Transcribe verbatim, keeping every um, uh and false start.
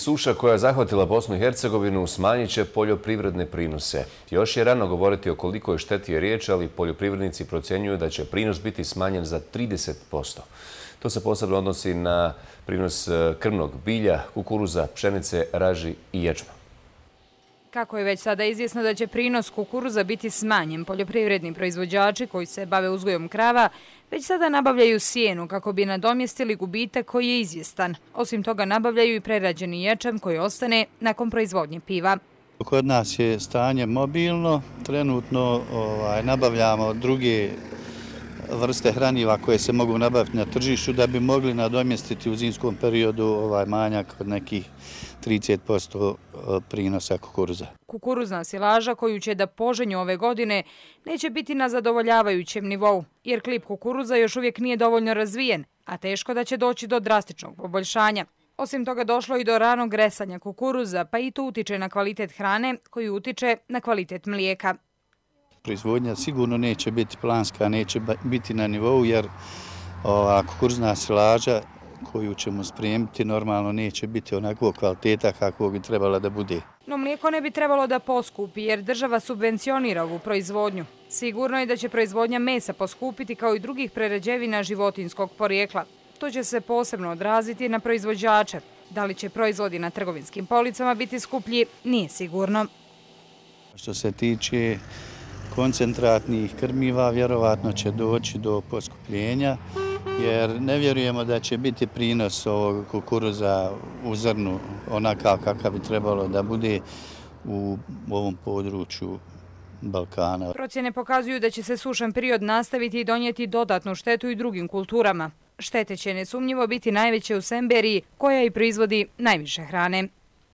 Suša koja je zahvatila Bosnu i Hercegovinu smanjit će poljoprivredne prinose. Još je rano govoriti o kolikoj šteti je riječ, ali poljoprivrednici procjenjuju da će prinos biti smanjen za trideset posto. To se posebno odnosi na prinos krmnog bilja, kukuruza, pšenice, raži i ječma. Kako je već sada izvjesno da će prinos kukuruza biti smanjen, poljoprivredni proizvođači koji se bave uzgojom krava već sada nabavljaju sjenu kako bi nadomjestili gubitak koji je izvjestan. Osim toga nabavljaju i prerađeni ječam koji ostane nakon proizvodnje piva. Kod nas je stanje mobilno. Trenutno ovaj, nabavljamo druge vrste hraniva koje se mogu nabaviti na tržištu da bi mogli nadomjestiti u zimskom periodu ovaj manjak od nekih trideset posto prinosa kukuruza. Kukuruzna silaža koju će da poženju ove godine neće biti na zadovoljavajućem nivou, jer klip kukuruza još uvijek nije dovoljno razvijen, a teško da će doći do drastičnog poboljšanja. Osim toga došlo i do ranog gresanja kukuruza, pa i to utiče na kvalitet hrane koji utiče na kvalitet mlijeka. Proizvodnja sigurno neće biti planska, neće biti na nivou jer ova kukuruzna silaža koju ćemo spremiti normalno neće biti onakvog kvaliteta kako bi trebala da bude. No mlijeko ne bi trebalo da poskupi jer država subvencionira ovu proizvodnju. Sigurno je da će proizvodnja mesa poskupiti kao i drugih prerađevina životinjskog porijekla. To će se posebno odraziti na proizvođače. Da li će proizvodi na trgovinskim policama biti skuplji, nije sigurno. Što se tiče koncentratnih krmiva, vjerovatno će doći do poskupljenja, jer ne vjerujemo da će biti prinos ovog kukuruza u zrnu onakav kakav bi trebalo da bude u ovom području Balkana. Procjene pokazuju da će se sušan period nastaviti i donijeti dodatnu štetu i drugim kulturama. Štete će nesumnjivo biti najveće u Semberiji, koja i proizvodi najviše hrane.